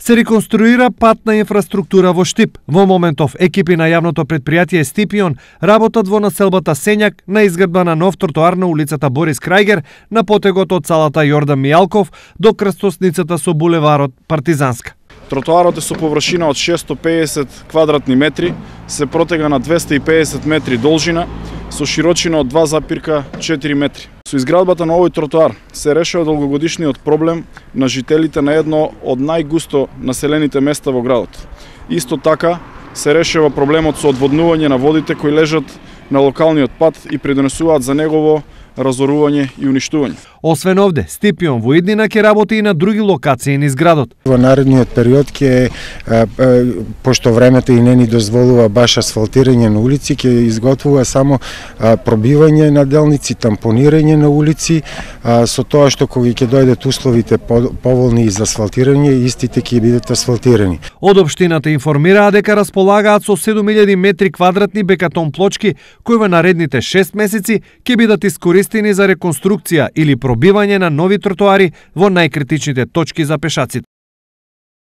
Се реконструира патна инфраструктура во Штип. Во моментов екипи на јавното предпријатие Стипион работат во населбата Сењак на изградба на нов тротоар на улицата Борис Крајгер на потегот од салата Јордан Мијалков до крстосницата со булеварот Партизанска. Тротоарот е со површина од 650 квадратни метри, се протега на 250 метри должина, со широчина од 2,4 метри. Со изградбата на овој тротоар се решава долгогодишниот проблем на жителите на едно од најгусто населените места во градот. Исто така се решава проблемот со одводнување на водите кои лежат на локалниот пат и придонесуваат за негово разорување и уништување. Освен овде, Стипион во иднина ќе работи и на други локации низ градот. Во наредниот период ќе, пошто времето и не ни дозволува баш асфалтирање на улици, ќе изготвува само пробивање на делници, тампонирање на улици, со тоа што кога ќе дојдат условите поволни за асфалтирање, истите ќе бидат асфалтирани. Од општината информираа дека располагаат со 7000 метри квадратни бекатон плочки кои во наредните 6 месеци ќе бидат искористени за реконструкција или пробивање на нови тротоари во најкритичните точки за пешаците.